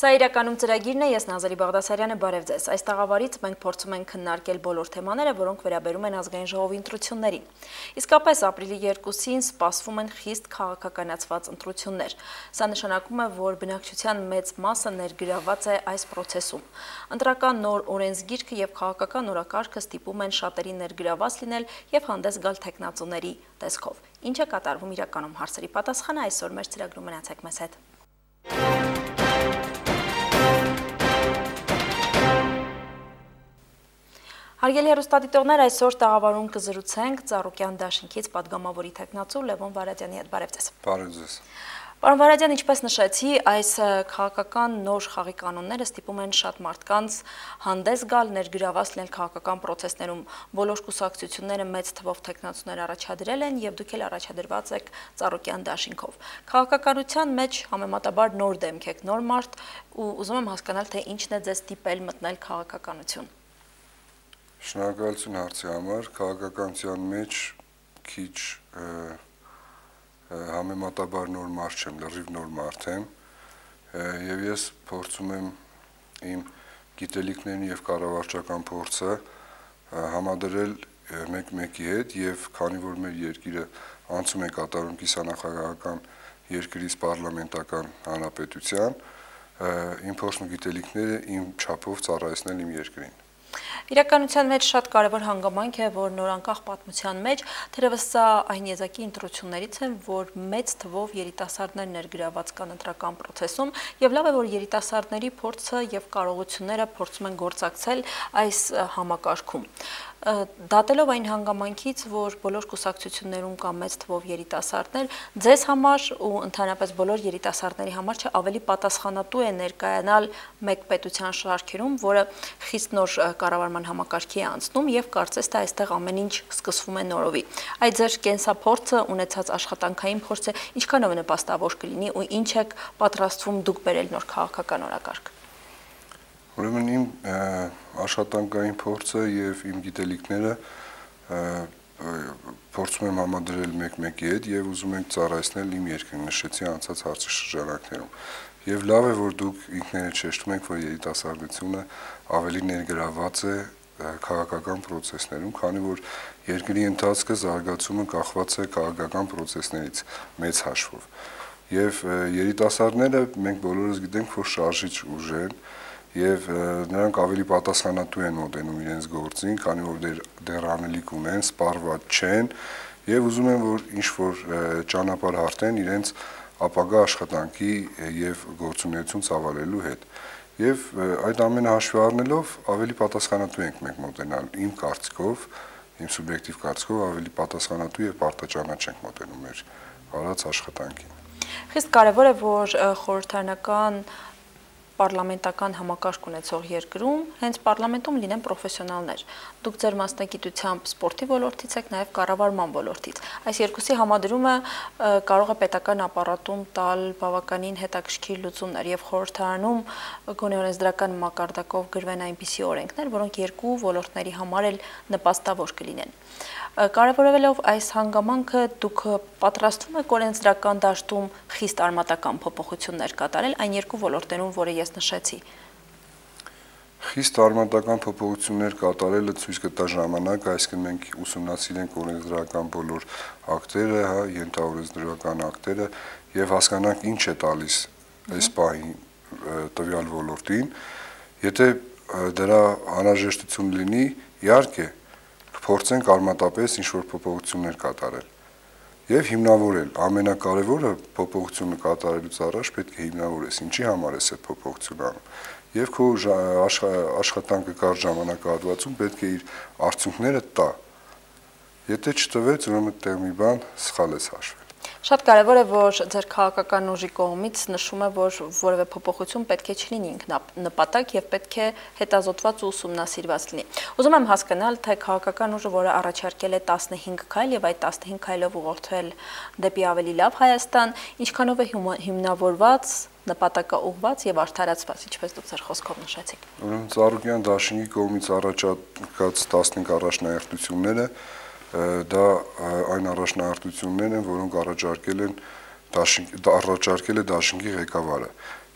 Սա իրականում ծրագիրն է, ես Նազարի Բաղդասարյանը, բարև ձեզ։ Այս տաղավարից մենք փորձում ենք քննարկել բոլոր թեմաները, որոնք վերաբերում են ազգային ժողովի ընտրություններին։ Իսկապես ապրիլի 2-ին սպասվում են խիստ քաղաքականացված ընտրություններ։ Սա նշանակում է, որ բնակչության մեծ մասը ներգրավված է այս process-ում։ Ընտրական նոր օրենսգիրքը եւ քաղաքական օրակարգը ստիպում են շատերի ներգրավված լինել եւ հանդես գալ տեխնացուների տեսքով։ Ինչ է կատարվում իրականում, հարցերի պատասխանը այսօր մեր ծրագրում, մնացեք մեզ հետ։ Հարգելի հեռուստադիտողներ, այսօր տաղավարում կզրուցենք Ծառուկյան դաշինքից պատգամավորի տեխնացու Լևոն Վարադյանի հետ, բարև ձեզ։ Բարև ձեզ։ Պարոն Վարադյան, ինչպես նշեցի, այս քաղաքական նոր խաղի կանոնները ստիպում են շատ մարդկանց հանդես գալ, ներգրավված լինել քաղաքական process-ներում։ Բոլոր կուսակցությունները մեծ թվով տեխնացուներ առաջադրել են եւ դուք էլ առաջադրված եք Ծառուկյան դաշինքով։ Քաղաքականության մեջ համեմատաբար նոր դեմք եք, նոր մարդ, ու ուզում եմ հասկանալ, թե ինչն է ձեզ ստիպել մտնել քաղաքականություն։ Շնորհակալություն հարցի համար, քաղաքականության մեջ քիչ համեմատաբար նոր մարդ չեմ, լրիվ նոր մարդ եմ, եւ ես փորձում եմ իմ գիտելիքներն եւ կառավարչական փորձը համադրել մեկ-մեկի հետ եւ քանի որ մեր երկիրը անցում է կատարում կիսանախագահական երկրից պարլամենտական հանրապետության, իմ փորձն ու գիտելիքները իմ չափով ծառայեցնել իմ երկրին։ Իրականության մեջ շատ կարևոր հանգամանք է, որ նորանկախ պատմության մեջ թերևս սա այն եզակի ընտրություններից են, որ մեծ թվով երիտասարդներ ներգրավված կան ընտրական process-ում եւ լավ է, որ երիտասարդների փորձը եւ կարողությունները փորձում են գործակցել այս համակարգում։ Դատելով այն հանգամանքից, որ բոլոր կուսակցություններում կա մեծ թվով երիտասարդներ, ձեզ համար ու ընդհանրապես բոլոր երիտասարդների համար չէ ավելի պատասխանատու է ներկայանալ մեկ պետության շարքերում, որը խիստ նոր կառավարման համակարգի է անցնում եւ կարծես թե այստեղ ամեն ինչ սկսվում է նորովի։ Այդ ձեր կենսափորձը, ունեցած աշխատանքային փորձը ինչքանով նպաստավոր կլինի ու ինչ եք պատրաստվում դուք բերել նոր քաղաքական օրակարգ։ Ուրեմն իմ աշխատանքային փորձը եւ իմ գիտելիքները փորձում եմ համադրել մեկ-մեկի հետ եւ ուզում ենք ծառայեցնել իմ երկրին, նշեցի անցած հարցի շրջանակներում։ Եվ լավ է, որ դուք ինքներդ շեշտում եք, որ երիտասարդությունը ավելի ներգրավված է քաղաքական process-ներում, քանի որ երկրի ընթացքը զարգացումը կախված է քաղաքական process-ներից մեծ հաշվով։ Եվ երիտասարդները մենք բոլորս գիտենք, որ շարժիչ ուժ են եւ նրանք ավելի պատասխանատու են մոտենում իրենց գործին, քանի որ դեռ անելիք ունեն, սպառված չեն եւ ուզում են, որ ինչ որ ճանապարհ հարթեն իրենց ապագա աշխատանքի եւ գործունեություն ծավալելու հետ։ Եվ այդ ամենը հաշվի առնելով ավելի պատասխանատու ենք մենք մոտենալ իմ կարծիքով, իմ սուբյեկտիվ կարծիքով ավելի պատասխանատու եւ պարտաճանաչ ենք մոտենում մեր արած աշխատանքին։ Խիստ կարևոր է, որ խորհրդարանական պարլամենտական համակարգ ունեցող երկրում հենց պարլամենտում լինեն պրոֆեսիոնալներ։ Դուք ձեր մասնագիտությամբ սպորտի ոլորտից եք, նաև կառավարման ոլորտից։ Այս երկուսի համադրումը կարող է պետական ապարատում տալ բավականին հետաքրքիր լուծումներ եւ խորհրդարանում գոնե օրենսդրական մակարդակով գրվեն այնպիսի օրենքներ, որոնք երկու ոլորտների համար էլ նպաստավոր կլինեն։ Կարևորելով այս հանգամանքը դուք պատրաստվում եք օրենսդրական դաշտում խիստ արմատական փոփոխություններ կատարել այն երկու ոլորտներում, որը ես նշեցի։ Խիստ արմատական փոփոխություններ կատարելը ցույց կտա ժամանակը, այսինքն մենք ուսումնասիրենք օրենսդրական բոլոր ակտերը, ենթաօրենսդրական ակտերը եւ հասկանանք ինչ է տալիս այս պահին տվյալ ոլորտին։ Եթե դրա անհրաժեշտություն լինի, իհարկե փորձենք արմատապես ինչ-որ փոփոխություններ կատարել եւ հիմնավորել։ Ամենակարևորը փոփոխությունը կատարելուց առաջ պետք է հիմնավորես, ինչի համար ես այդ փոփոխությունը անում։ Եվ քո աշխատանքը կարճ ժամանակահատվածում պետք է իր արդյունքները տա։ Եթե չտվեց, ուրեմն տեղ մի բան սխալ ես հաշվել։ Շատ կարևոր է, որ ձեր քաղաքական ուժի կողմից նշում է, որ որևէ փոփոխություն պետք է չլինի ինքնանպատակ եւ պետք է հետազոտված ու ուսումնասիրված լինի։ Ուզում եմ հասկանալ, թե քաղաքական ուժը, որը առաջարկել է 15 քայլ եւ այդ 15 քայլով ուղղորդվել դեպի ավելի լավ Հայաստան, ինչքանով է հիմնավորված, նպատակաուղղված եւ արդարացված, ինչպես դուք ձեր խոսքով նշեցիք։ Ուրեմն Ծառուկյան դաշինքի կողմից առաջարկած 15 առաջնահերթությունները դա այն առաջնահերթություններն են, որոնք առաջարկել է դաշինքի ղեկավարը։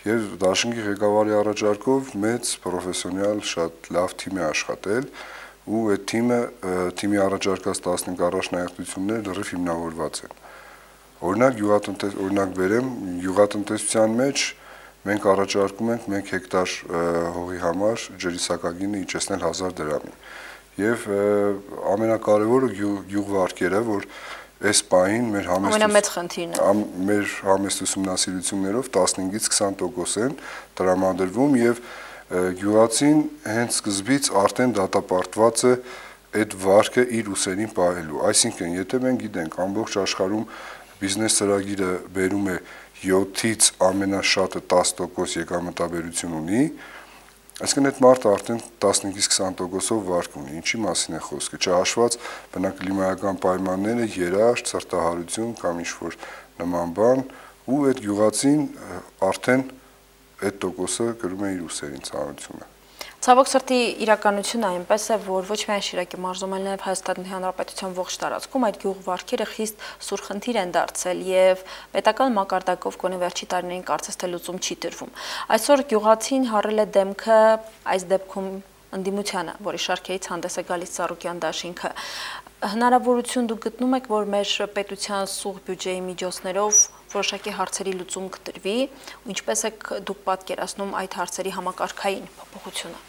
եւ դաշինքի ղեկավարի առաջարկով մեծ պրոֆեսիոնալ շատ լավ թիմ է աշխատել ու այդ թիմի առաջարկած 15 առաջնահերթությունները լրիվ հիմնավորված են։ Օրինակ բերեմ, գյուղատնտեսության մեջ մենք առաջարկում ենք 1 հեկտար հողի համար ջրիսակագինը իջեցնել 1000 դրամի։ Եվ ամենակարևորը գյուղվարկերը, որ այս պահին մեր ամենամեծ խնդիրն է։ Մեր համեստ ուսումնասիրություններով 15-ից 20% են տրամադրվում եւ գյուղացին հենց սկզբից արդեն դատապարտված է այդ վարկը իր ուսերին պահելու։ Այսինքն, եթե մենք գիտենք ամբողջ աշխարհում բիզնես ծրագիրը բերում է 7-ից ամենաշատը 10% եկամտաբերություն ունի, այսինքն այդ մարդը արդեն 15-ից 20%-ով վարկ ունի, ինչի մասին է խոսքը, չհաշված բնակլիմայական պայմանները, երաշտ, սրտահարություն կամ ինչ-որ նման բան, ու այդ գյուղացին արդեն այդ տոկոսը կրում է իր ուսերին ծանրությունը։ Ցավոք սրտի իրականությունը այնպես է, որ ոչ միայն Շիրակի մարզում, այլ նաև Հայաստանի Հանրապետության ողջ տարածքում այդ գյուղվարկերը խիստ սուր խնդիր են դարձել եւ պետական մակարդակով գոնե վերջի տարիներին կարծես թե լուծում չի տրվում։ Այսօր գյուղացին հառել է դեմքը այս դեպքում ընդդիմությանը, որի շարքերից հանդես է գալիս Ծառուկյան դաշինքը։ Հնարավորություն դուք գտնում եք, որ մեր պետության սուղ բյուջեի միջոցներով որոշակի հարցերի լուծում կտրվի, ու ինչպես եք դուք պատկերացնում այդ հարցերի համակարգային փոփոխությունը։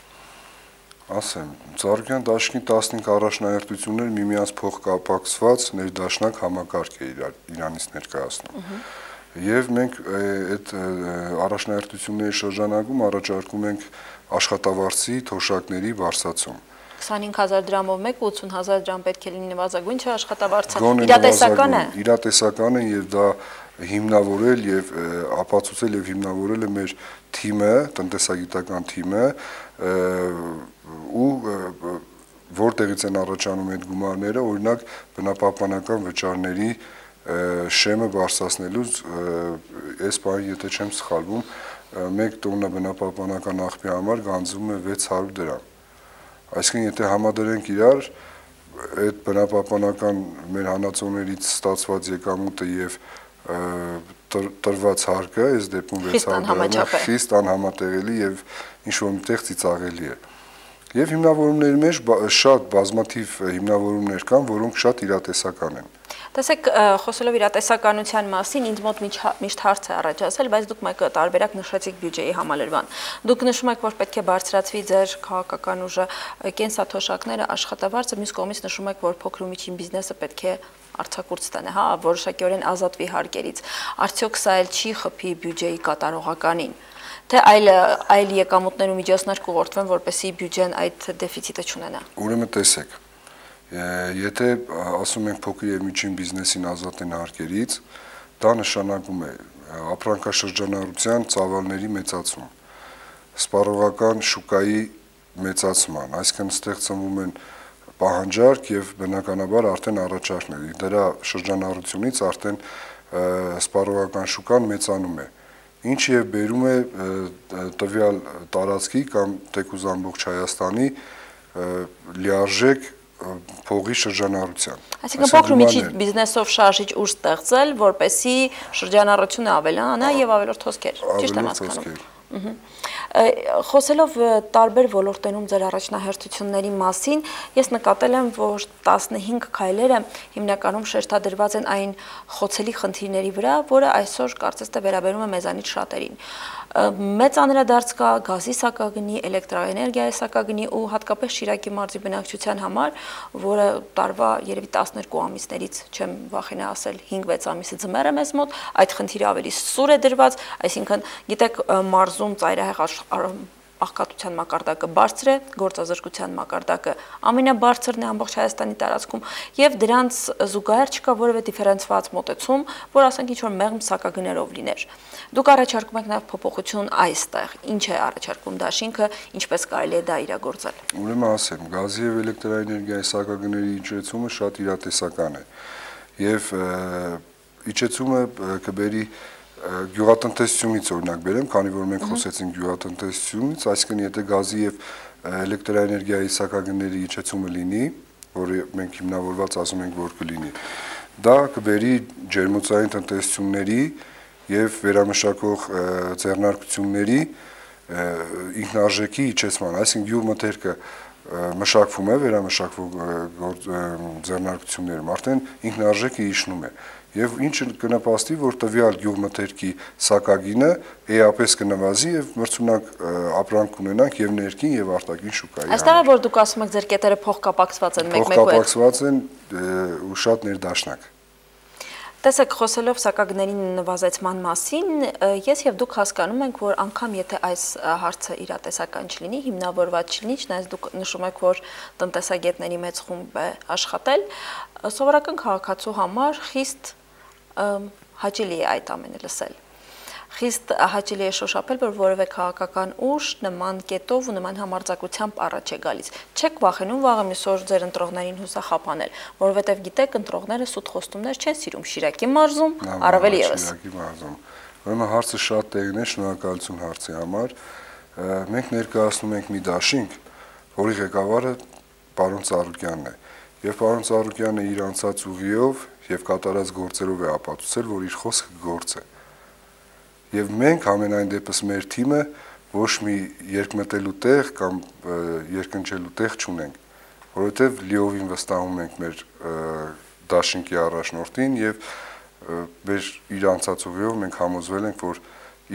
Ասեմ, Ծառուկյան դաշինքի 15 առաջնահերթություններ միմյանց փոխկապակցված ներդաշնակ համակարգ է իրանից ներկայացնում։ Եվ մենք այդ առաջնահերթությունների շրջանակում առաջարկում ենք աշխատավարձի թոշակների բարձրացում։ 25000 դրամով մեկ 80000 դրամ պետք է լինի նվազագույն աշխատավարձը, իրատեսական է։ Իրատեսական է եւ դա հիմնավորել եւ ապացուցել եւ հիմնավորել է մեր թիմը, տնտեսագիտական թիմը, ու որտեղից են առաջանում այդ գումարները, օրինակ բնապահպանական վճարների շեմը բարձրացնելուց, այս բանը եթե չեմ սխալվում, 1 տոննա բնապահպանական աղբի համար գանձվում է 600 դրամ։ Այսինքն եթե համադրենք իրար այդ բնապահպանական մեր հանածոներից ստացված եկամուտը եւ տրված հարկը, այս դեպքում 600 դրամը խիստ անհամատեղելի եւ ինչ-որ միտեղ ծիծաղելի է։ Եվ հիմնավորումների մեջ շատ բազմաթիվ հիմնավորումներ կան, որոնք շատ իրատեսական են։ Տեսեք, խոսելով իրատեսականության մասին, ինձ մոտ միշտ հարց է առաջացել, բայց դուք մեկ տարբերակ նշեցիք բյուջեի համալրման։ Դուք նշում եք, որ պետք է բարձրացվի ձեր քաղաքական ուժը, կենսաթոշակները, աշխատավարձը, մյուս կողմից նշում եք, որ փոքր ու միջին բիզնեսը պետք է արձակուրդ ստանա, հա, որոշակիորեն ազատվի հարկերից։ Արդյոք սա էլ չի խփի բյուջեի կատարողականին, թե այլ եկամուտներ ու միջոցներ կուղղորդվեն, որպեսզի բյուջեն այդ դեֆիցիտը չունենա։ Ուրեմն տեսեք, եթե ասում ենք փոքր եւ միջին բիզնեսին ազատեն հարկերից, դա նշանակում է ապրանքաշրջանառության ծավալների մեծացում, սպառողական շուկայի մեծացման, այսինքն ստեղծվում են պահանջարկ եւ բնականաբար արդեն առաջարկներ, դրա շրջանառությունից արդեն սպառողական շուկան մեծանում է, ինչ եւ բերում է տվյալ տարածքի կամ թեկուզ ամբողջ Հայաստանի լիարժեք փողի շրջանառության։ Այսինքն փոքր ու միջին բիզնեսով շարժիչ ուժ ստեղծել, որպեսզի շրջանառությունը ավելանա եւ ավելորդ հոսքեր, ճիշտ եմ հասկանում։ Խոսելով տարբեր ոլորտներում ձեր առաջնահերթությունների մասին, ես նկատել եմ, որ 15 քայլերը հիմնականում շեշտադրված են այն խոցելի խնդիրների վրա, որը այսօր կարծես թե վերաբերում է մեզանից շատերին։ Մեծ անդրադարձ կա գազի սակագնի, էլեկտրաէներգիայի սակագնի ու հատկապես Շիրակի մարզի բնակչության համար, որը տարվա երևի 12 ամիսներից, չեմ վախենա ասել, 5-6 ամիսը ձմեռ է մեզ մոտ, այդ խնդիրը ավելի սուր է դրված, այսինքն գիտեք մարզում ծայրահեղ աղքատության մակարդակը բարձր է, գործազրկության մակարդակը ամենաբարձրն է ամբողջ Հայաստանի տարածքում եւ դրանց զուգահեռ չկա որևէ դիֆերենցված մոտեցում, որ ասենք ինչ-որ մեղմ սակագներով լիներ։ Դուք առաջարկում եք նաեւ փոփոխություն այստեղ։ Ինչ է առաջարկում դաշինքը, ինչպես կարելի է դա իրագործել։ Ուրեմն ասեմ, գազի եւ էլեկտրաէներգիայի սակագների իջեցումը շատ իրատեսական է եւ իջեցումը կբերի գյուղատնտեսությունից օրինակ բերեմ, քանի որ մենք խոսեցինք գյուղատնտեսությունից, այսինքն եթե գազի եւ էլեկտրաէներգիայի սակագների իջեցումը լինի, որը մենք հիմնավորված ասում ենք, որ կլինի, դա կբերի ջերմոցային տնտեսությունների եւ վերամշակող ձեռնարկությունների ինքնարժեքի իջեցման, այսինքն գյուղմթերքը մշակվում է վերամշակվող ձեռնարկություններում, արդեն ինքնարժեքը իջնում է եւ ինչը կնպաստի, որ տվյալ գյուղմթերքի սակագինը էապես կնվազի եւ մրցունակ ապրանք ունենանք եւ ներքին եւ արտաքին շուկայի։ Այստեղ է որ դուք ասում եք ձեր կետերը փոխկապակցված են մեկ-մեկու հետ։ Փոխկապակցված են ու շատ ներդաշնակ։ Տեսեք, խոսելով սակագների նվազեցման մասին, ես եւ դուք հասկանում ենք, որ անգամ եթե այս հարցը իրատեսական չլինի, հիմնավորված չլինի, չնայած դուք նշում եք, որ տնտեսագետների մեծ խումբ է աշխատել, սովորական քաղաքացու համար խիստ հաճելի է այդ ամենը լսել։ Խիստ հաճելի է շոշափել, որ որևէ քաղաքական ուժ նման կետով ու նման համարձակությամբ առաջ է գալիս։ Չեք վախենում վաղը մյուս օր ձեր ընտրողներին հուսախաբանել, որովհետև գիտեք, ընտրողները սուտ խոստումներ չեն սիրում Շիրակի մարզում, առավել եւս։ Շիրակի մարզում։ Ուրեմն հարցը շատ տեղին է, շնորհակալություն հարցի համար։ Մենք ներկայացնում ենք մի դաշինք, որի ղեկավարը պարոն Ծառուկյանն է։ Եվ պարոն Ծառուկյանը իր անցած ուղիով եւ կատարած գործերով է ապացուցել, որ իր խոսքը գործ է։ Եվ մենք ամենայն դեպս մեր թիմը ոչ մի երկմտելու տեղ կամ երկնչելու տեղ չունենք, որովհետև լիովին վստահում ենք մեր դաշինքի առաջնորդին եւ մեր իր անցած ուղիով մենք համոզվել ենք, որ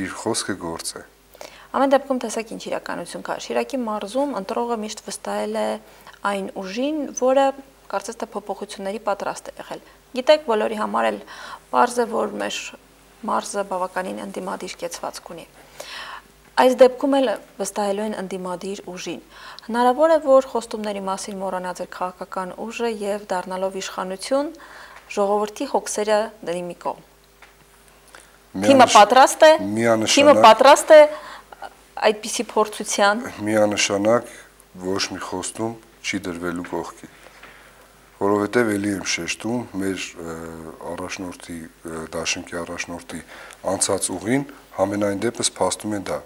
իր խոսքը գործ է։ Ամեն դեպքում տեսեք ինչ իրականություն կա։ Շիրակի մարզում ընտրողը միշտ վստահել է այն ուժին, որը կարծես թե փոփոխությունների պատրաստ է եղել։ Գիտեք, բոլորի համար էլ պարզ է, որ մեր մարզը բավականին ընդդիմադիր կեցվածք ունի։ Այս դեպքում էլ վստահելու են ընդդիմադիր ուժին։ Հնարավոր է, որ խոստումների մասին մոռանա ձեր քաղաքական ուժը եւ դառնալով իշխանություն ժողովրդի հոգսերը դնի մի կողմ։ Թիմը պատրաստ է այդպիսի փորձության։ Միանշանակ ոչ մի խոստում չի դրվելու կողքի։ Որովհետև էլի եմ շեշտում մեր առաջնորդի դաշինքի առաջնորդի անցած ուղին համենայն դեպս փաստում է դա։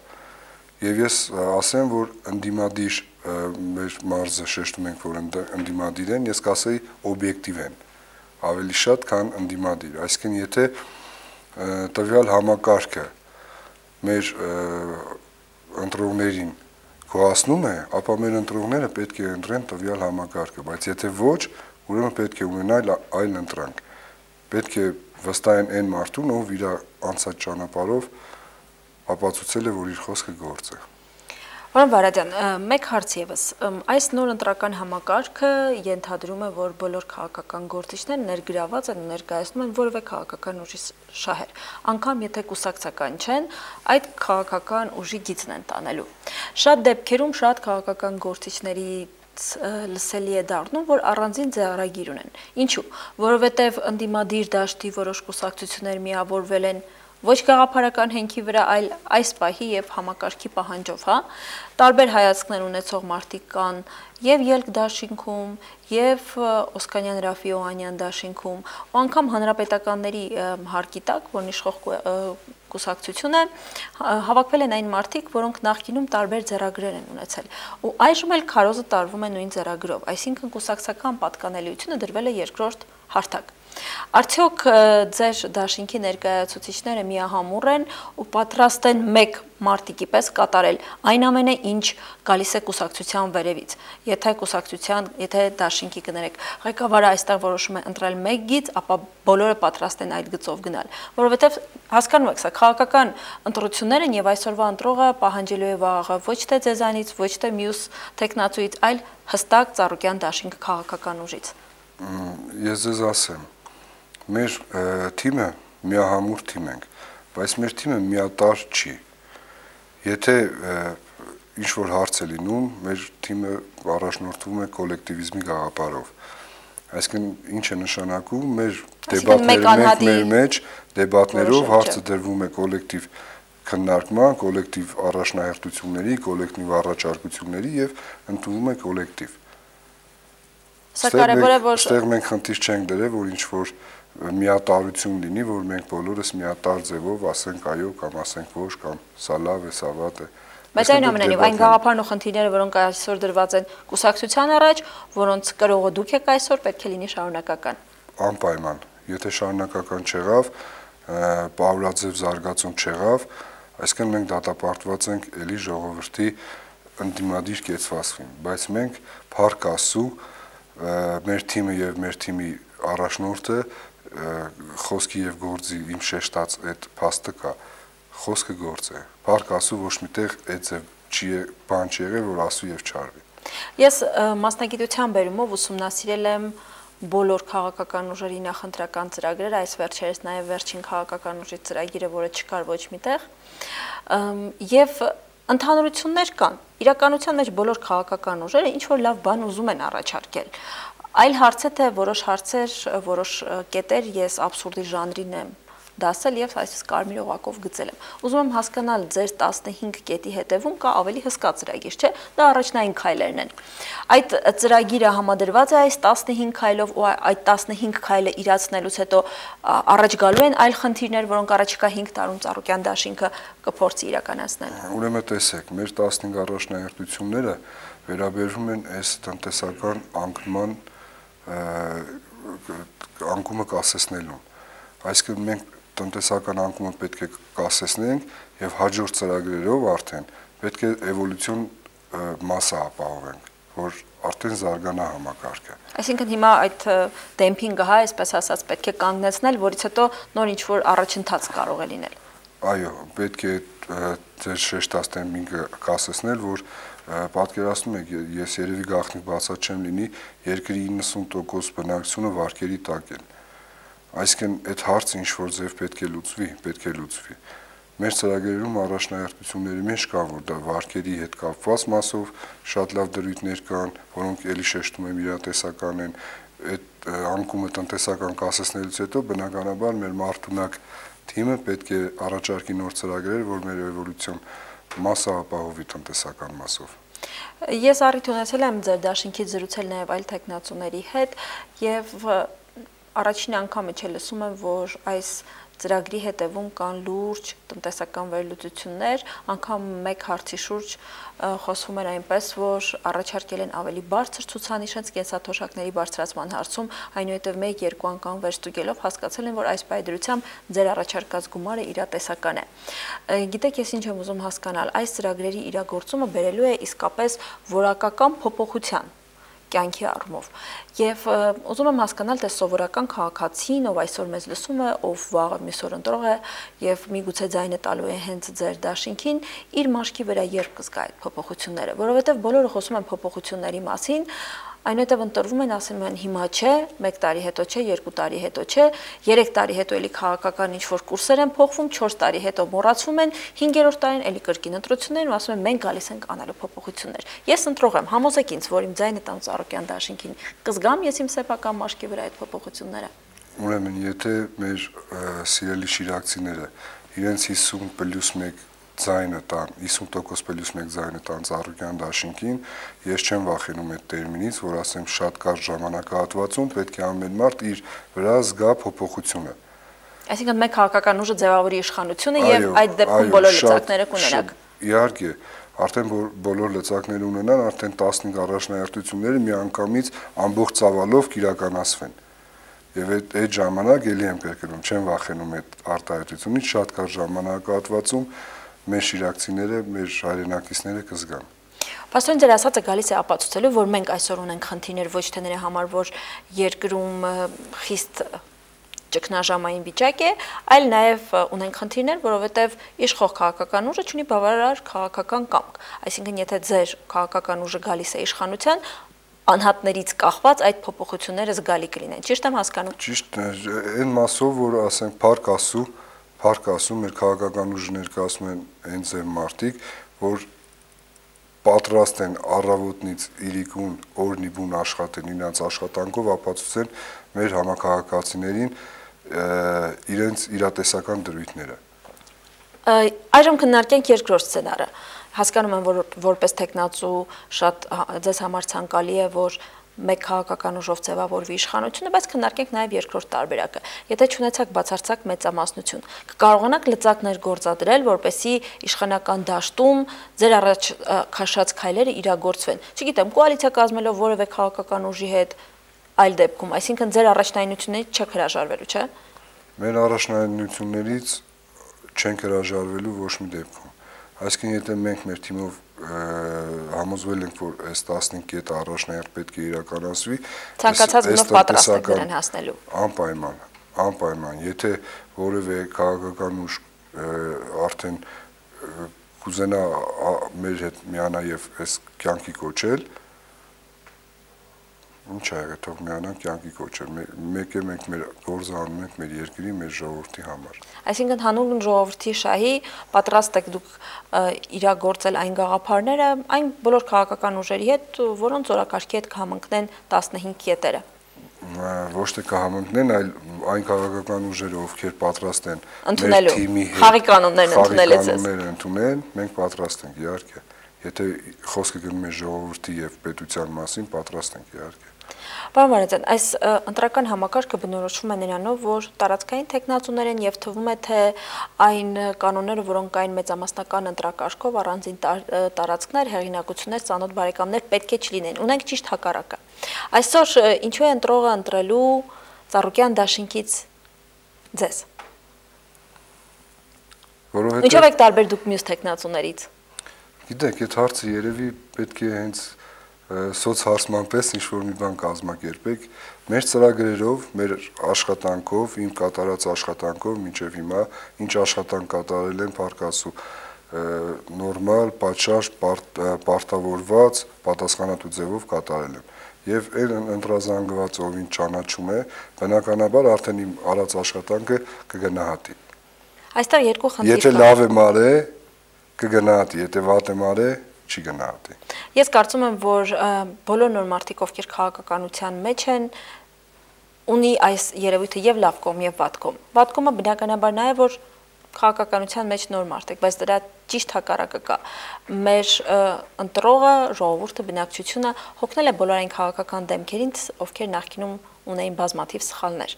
Եվ ես ասեմ, որ ընդդիմադիր մեր մարզը շեշտում ենք, որ ընդդիմադիր են, ես կասեի օբյեկտիվ են, ավելի շատ, քան ընդդիմադիր։ Այսինքն, եթե տվյալ համակարգը մեր ընտրողներին գոհացնում է, ապա մեր ընտրողները պետք է ընտրեն տվյալ համակարգը, բայց եթե ոչ, ուրեմն պետք է ունենալ այլ ընտրանք։ Պետք է վստահեն այն մարդուն, ով իր անցած ճանապարհով ապացուցել է, որ իր խոսքը գործ է։ Պարոն Վարադյան, մեկ հարց եւս, այս նոր ընտրական համակարգը ենթադրում է, որ բոլոր քաղաքական գործիչները ներգրաված են ու ներկայացնում են որևէ քաղաքական ուժի շահեր, անգամ եթե կուսակցական չեն, այդ քաղաքական ուժի գիծն են տանելու։ Շատ դեպքերում շատ քաղաքական գործիչների լսելի է դառնում, որ առանձին ձեռագիր ունեն։ Ինչու՞, որովհետև ընդդիմադիր դաշտի որոշ կուսակցություններ միավորվել են ոչ գաղափարական հենքի վրա, այլ այս պահի եւ համակարգի պահանջով, հա, տարբեր հայացքներ ունեցող մարդիկ կան եւ ելք դաշինքում, եւ Օսկանյան Ռաֆի Օհանյան դաշինքում, ու անգամ հանրապետականների հարկի տակ, որն իշխող կուսակցություն է, հավաքվել են այն մարդիկ, որոնք նախկինում տարբեր ձեռագրեր են ունեցել, ու այժմ էլ քարոզը տարվում է նույն ձեռագրով, այսինքն կուսակցական պատկանելիությունը դրվել է երկրորդ հարթակ։ Արդյոք ձեր դաշինքի ներկայացուցիչները միահամուռ են ու պատրաստ են մեկ մարտիկի պես կատարել այն ամենը, ինչ գալիս է կուսակցության վերևից։ Եթե դաշինքի կներեք, ղեկավարը այստեղ որոշում է ընտրել մեկ գիծ, ապա բոլորը պատրաստ են այդ գծով գնալ, որովհետև հասկանում եք, սա քաղաքական ընտրություններ են եւ այսօրվա ընտրողը պահանջելու է վաղը ոչ թե ձեզանից, ոչ թե մյուս տեխնացուից, այլ հստակ Ծառուկյան դաշինք քաղաքական ուժից։ Ես ձեզ ասեմ, մեր թիմը միահամուռ թիմ ենք, բայց մեր թիմը միատարր չի։ Եթե ինչ-որ հարց է լինում, մեր թիմը առաջնորդվում է կոլեկտիվիզմի գաղափարով։ Այսինքն ինչ է նշանակում, մեր դեբատների մեջ դեբատներով հարցը դրվում է կոլեկտիվ քննարկման, կոլեկտիվ առաջնահերթությունների, կոլեկտիվ առաջարկությունների եւ ընդունվում է կոլեկտիվ։ Սա կարևոր է, որ այստեղ մենք խնդիր չենք դրել, որ ինչ-որ միատարրություն լինի, որ մենք բոլորս միատար ձևով ասենք այո կամ ասենք ոչ կամ սա լավ է, սա վատ է։ Բայց այնուամենայնիվ այն գաղափարն ու խնդիրները, որոնք այսօր դրված են կուսակցության առաջ, որոնց կրողը դուք եք այսօր, պետք է լինի շարունակական։ Անպայման, եթե շարունակական չեղավ, պարուրաձև զարգացում չեղավ, այսինքն մենք դատապարտված ենք էլի ժողովրդի ընդդիմադիր կեցվածքին, բայց մենք փառք Աստծո մեր թիմը եւ մեր թիմի առաջնորդը խոսքի եւ գործի իմ շեշտած այդ փաստը կա, խոսքը գործ է, փառք Աստծո ոչ միտեղ այդ չի բան չի եղել, որ ասու եւ չարվի։ Ես մասնագիտության բերումով ուսումնասիրել եմ բոլոր քաղաքական ուժերի նախընտրական ծրագրերը, այս վերջերս նաև վերջին քաղաքական ուժի ծրագիրը, որը չկար ոչ միտեղ, եւ ընդհանրություններ կան։ Իրականության մեջ բոլոր քաղաքական ուժերը ինչ որ լավ բան ուզում են առաջարկել։ Այլ հարց է, թե որոշ հարցեր, որոշ կետեր ես աբսուրդի ժանրին եմ դասել եւ այսպես կարմիր օղակով գծել եմ։ Ուզում եմ հասկանալ ձեր 15 կետի հետևում կա ավելի հսկա ծրագիր, չէ՞։ Դա առաջնային քայլերն են։ Այդ ծրագիրը համադրված է այս 15 քայլով ու այդ 15 քայլը իրացնելուց հետո առաջ գալու են այլ խնդիրներ, որոնք առաջիկա 5 տարում Ծառուկյան դաշինքը կփորձի իրականացնել։ Ուրեմն տեսեք, մեր 15 առաջնահերթությունները վերաբերում են այս տնտեսական անկումը կասեցնելուն։ Այսինքն մենք տնտեսական անկումը պետք է կասեցնենք եւ հաջորդ ծրագրերով արդեն պետք է էվոլյուցիոն մասը ապահովենք, որ արդեն զարգանա համակարգը։ Այսինքն հիմա այդ դեմփինգը, հա, այսպես ասած, պետք է կանգնեցնել, որից հետո նոր ինչ-որ առաջընթաց կարող է լինել։ Այո, պետք է ձեր շեշտած դեմփինգը կասեցնել, որ պատկերացնում եք, ես երևի գաղտնիք բացած չեմ լինի, երկրի 90% բնակչությունը վարկերի տակ են։ Այսինքն այդ հարցը ինչ որ ձև պետք է լուծվի։ Մեր ծրագրերում առաջնահերթությունների մեջ կա, որ դա վարկերի հետ կապված մասով շատ լավ դրույթներ կան, որոնք էլի շեշտում եմ իրատեսական են, այդ անկումը տնտեսական կասեցնելուց հետո բնականաբար մեր մարդունակ թիմը պետք է առաջարկի նոր ծրագրեր, որ մեր էվոլյուցիոն մասը ապահովի տնտեսական մասով։ Ես առիթ ունեցել եմ ձեր դաշինքից զրուցել նաև այլ տեխնացուների հետ եւ առաջին անգամ լսում եմ, որ այս ծրագրի հետևում կան լուրջ տնտեսական վերլուծություններ, անգամ մեկ հարցի շուրջ խոսվում էր այնպես, որ առաջարկել են ավելի բարձր ցուցանիշ կենսաթոշակների բարձրացման հարցում, այնուհետև 1-2 անգամ վերստուգելով հասկացել են, որ այս պայդրությամբ ձեր առաջարկած գումարը իրատեսական է։ Գիտեք, ես ինչ եմ ուզում հասկանալ, այս ծրագրերի իրագործումը բերելու է իսկապես որակական փոփոխության կյանքի առումով։ Եվ ուզում եմ հասկանալ, թե սովորական քաղաքացին, ով այսօր մեզ լսում է, ով վաղը մյուս օր ընտրող է եւ միգուցե ձայնը տալու է հենց ձեր դաշինքին, իր մաշկի վրա երբ կզգա այդ փոփոխությունները, որովհետեւ բոլորը խոսում են փոփոխությունների մասին, այնուհետև ընտրվում են, ասում են հիմա չէ, 1 տարի հետո չէ, 2 տարի հետո չէ, 3 տարի հետո էլի քաղաքական ինչ-որ կուրսեր են փոխվում, 4 տարի հետո մոռացվում են, 5-րդ տարին էլի կրկին ընտրություններ ու ասում են մենք գալիս ենք անելու փոփոխություններ։ Ես ընտրող եմ, համոզեք ինձ, որ իմ ձայնը տամ Ծառուկյան դաշինքին, կզգամ ես իմ սեփական մաշկի վրա այդ փոփոխությունները։ Ուրեմն, եթե մեր սիրելի շիրակցիները իրենց 50+1 ձայնը տան, 50%+1 ձայնը տան Ծառուկյան դաշինքին, ես չեմ վախենում այդ տերմինից, որ ասեմ շատ կարճ ժամանակահատվածում պետք է ամեն մարդ իր վրա զգա փոփոխությունը։ Այսինքն մեկ քաղաքական ուժը ձևավորի իշխանությունը եւ այդ դեպքում բոլոր լծակները կունենաք։ Իհարկե, արդեն բոլոր լծակները ունենան, արդեն 15 առաջնահերթությունները միանգամից ամբողջ ծավալով կիրականացվեն։ Եվ այդ ժամանակ էլի եմ կրկնում, չեմ վախենում այդ արտահայտությունից, շատ կարճ ժամանակահատվածում մեր շիրակցիները, մեր հայրենակիցները կզգան։ Պաստորեն, ձեր ասածը գալիս է ապացուցելու, որ մենք այսօր ունենք խնդիրներ ոչ թե նրա համար, որ երկրում խիստ ճգնաժամային վիճակ է, այլ նաև ունենք խնդիրներ, որովհետև իշխող քաղաքական ուժը չունի բավարար քաղաքական կամք։ Այսինքն, եթե ձեր քաղաքական ուժը գալիս է իշխանության, անհատներից կախված այդ փոփոխությունները զգալի կլինեն։ Ճիշտ եմ հասկանում։ Ճիշտ է, այն մասով, որ ասենք փառք Աստծո, մեր քաղաքական ուժը ներկայացնում են հենց այն մարդիկ, որ պատրաստ են առավոտից իրիկուն օրնի բուն աշխատեն, իրենց աշխատանքով ապացուցեն մեր համակարգացիներին իրենց իրատեսական դրույթները։ Այժմ քննարկենք երկրորդ սցենարը։ Հասկանում եմ, որ որպես տեխնացու շատ ձեզ համար ցանկալի է, որ մեկ քաղաքական ուժով ձևավորվի իշխանությունը, բայց քննարկենք նաև երկրորդ տարբերակը։ Եթե չունեցաք բացարձակ մեծամասնություն, կկարողանաք լծակներ գործադրել, որպեսզի իշխանական դաշտում ձեր առաջ քաշած քայլերը իրագործվեն։ Չգիտեմ, կոալիցիա կազմելով որևէ քաղաքական ուժի հետ, այլ դեպքում, այսինքն ձեր առաջնայինություններից չեք հրաժարվելու, չէ՞։ Մեր առաջնահերթություններից չենք հրաժարվելու ոչ մի դեպքում։ Այսինքն, եթե մենք մեր թիմով համոզվել ենք, որ այս 15 կետը առաջնահերթ պետք է իրականացվի, ցանկացած գնով պատրաստ ենք դրան հասնելու։ Անպայման, եթե որևէ քաղաքական ուժ արդեն կուզենա մեր հետ միանա եւ այս կյանքի կոչել, ինչ ա եղել, թող միանան կյանքի կոչել։ Մեկ է մենք մեր գործը անում ենք մեր երկրի, մեր ժողովրդի համար։ Այսինքն հանուն ժողովրդի շահի պատրաստ եք դուք իրագործել այն գաղափարները, այն բոլոր քաղաքական ուժերի հետ, որոնց օրակարգի հետ կհամընկնեն 15 կետերը։ Ոչ թե կհամընկնեն, այլ այն քաղաքական ուժերը, ովքեր պատրաստ են մեր թիմի հետ խաղի կանոններն ընդունել, մենք պատրաստ ենք, իհարկե։ Եթե խոսքը գնում է ժողովրդի եւ պետության մասին, պատրաստ ենք, իհարկե։ Պարոն Վարդանյան, այս ընտրական համակարգը բնորոշվում է նրանով, որ տարածքային թեկնածուներ են եւ թվում է, թե այն կանոնները, որոնք կային մեծամասնական ընտրակարգով, առանձին տարածքներ, հեղինակություններ, ծանոթ բարեկամներ պետք է չլինեն։ Ունենք ճիշտ հակառակը։ Այսօր ինչու է ընտրողը ընտրելու Ծառուկյան դաշինքից ձեզ։ Ինչով եք տարբեր դուք մյուս թեկնածուներից։ Գիտեք, այդ հարցը երևի պետք է հենց սոցհարցման պես ինչ-որ մի բան կազմակերպեք, մեր ծրագրերով, մեր աշխատանքով, իմ կատարած աշխատանքով մինչև հիմա, ինչ աշխատանք կատարել են Փարքասու նորմալ, պատշաճ, պարտավորված, պատասխանատու ձևով կատարել եմ։ Եվ այն ընտրազանգված ով ինձ ճանաչում է, բնականաբար արդեն իմ արած աշխատանքը կգնահատի։ Այստեղ երկու խնդիր կա։ Եթե լավ եմ արել, կգնահատի, եթե վատ եմ արել, չի գնահատի։ Ես կարծում եմ, որ բոլոր նոր մարդիկ, ովքեր քաղաքականության մեջ են, ունի այս երևույթը եւ լավ կողմ եւ վատ կողմ։ Վատ կողմը բնականաբար նա է, որ քաղաքականության մեջ նոր մարդ եք, բայց դրա ճիշտ հակառակը կա։ Մեր ընտրողը, ժողովուրդը, բնակչությունը հոգնել է բոլոր այն քաղաքական դեմքերին, ովքեր նախկինում ունեին բազմաթիվ սխալներ։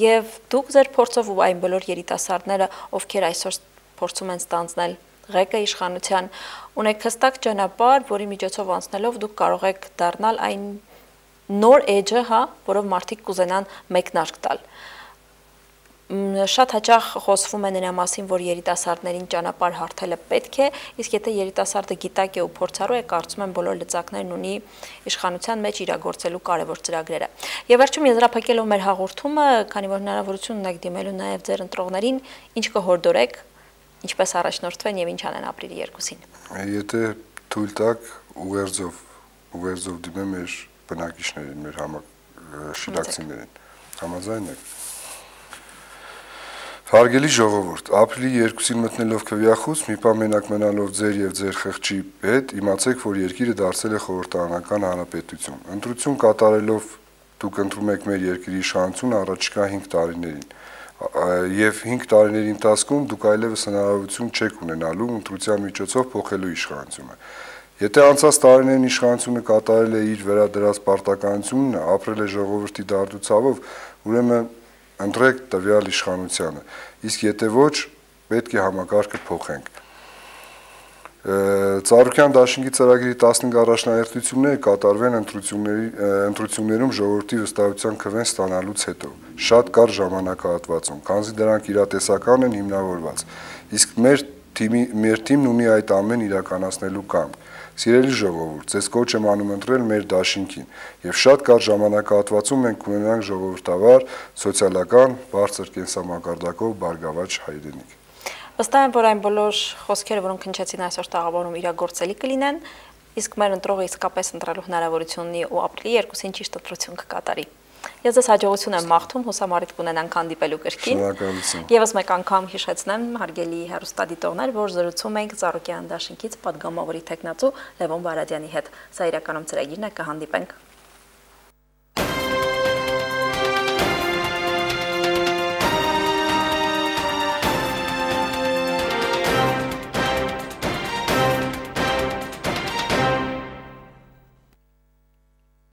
Եվ դուք ձեր փորձով ու այն բոլոր երիտասարդները, ովքեր այսօր փորձում են ստանձնել ղեկը իշխանության, ունեք հստակ ճանապարհ, որի միջոցով անցնելով դուք կարող եք դառնալ այն նոր էջը, որով մարդիկ կուզենան մեկնարկ տալ։ Շատ հաճախ խոսվում է նրա մասին, որ երիտասարդներին ճանապարհ հարթելը պետք է, իսկ եթե երիտասարդը գիտակ է ու փորձառու է, կարծում եմ բոլոր լծակներն ունի իշխանության մեջ իրագործելու կարևոր ծրագրերը։ Եվ վերջում եզրափակելով մեր հաղորդումը, քանի որ հնարավորություն ունեք դիմելու նաև ձեր ընտրողներին, ինչ կհորդորեք, ինչպես առաջնորդվեն եւ ինչ անեն ապրիլի 2-ին։ Եթե թույլ տաք ուղերձով դիմեմ մեր բնակիչներին, մեր շիլակցիներին, համաձայն եք։ Հարգելի ժողովուրդ, ապրիլի 2-ին մտնելով քվեախոս, մի պահ մենակ մնալով ձեր եւ ձեր խղճի հետ, իմացեք, որ երկիրը դարձել է խորհրդարանական հանրապետություն։ Ընտրություն կատարելով դուք ընտրում եք մեր երկրի իշխանությունը առաջիկա 5 տարիներին։ Եվ 5 տարիների ընթացքում դուք այլևս հնարավորություն չեք ունենալու ընտրության միջոցով փոխելու իշխանությունը։ Եթե անցած տարիներին իշխանությունը կատարել է իր վերադրած պարտականությունն, ապրել է ժողովրդի դարդուցավով, ուրեմն ընտրեք տվյալ իշխանությանը։ Իսկ եթե ոչ, պետք է համակարգը փոխենք։ Ծառուկյան դաշինքի ծրագրի 15 առաջնահերթությունները կատարվեն ընտրություններում ժողովրդի վստահության քվեն ստանալուց հետո, շատ կարճ ժամանակահատվածում, քանզի դրանք իրատեսական են հիմնավորված, իսկ մեր թիմն ունի այդ ամեն իրականացնելու կամք։ Սիրելի ժողովուրդ, ձեզ կոչ եմ անում ընտրել մեր դաշինքին, եւ շատ կարճ ժամանակահատվածում մենք կունենանք ժողովրդավար, սոցիալական, բարձր կենսամակարդակով բարգավաճ հայրենիք։ Վստահ եմ, որ այն բոլոր խոսքերը, որոնք հնչեցին այսօր տաղավարում, իրագործելի կլինեն, իսկ մեր ընտրողը իսկապես ընտրելու հնարավորություն ունի ու ապրիլի 2-ին ճիշտ ընտրություն կկատարի։ Ես ձեզ հաջողություն եմ մաղթում, հուսամարիտ կունենանք հանդիպելու կրկին։ Շնորհակալություն։ Եվս մեկ անգամ հիշեցնեմ, հարգելի հեռուստադիտողներ, որ զրուցում ենք Ծառուկյան դաշինքից պատգամավորի թեկնածու Լևոն Վարադյանի հետ։ Սա իրականում ծրագիրն է, կհանդիպենք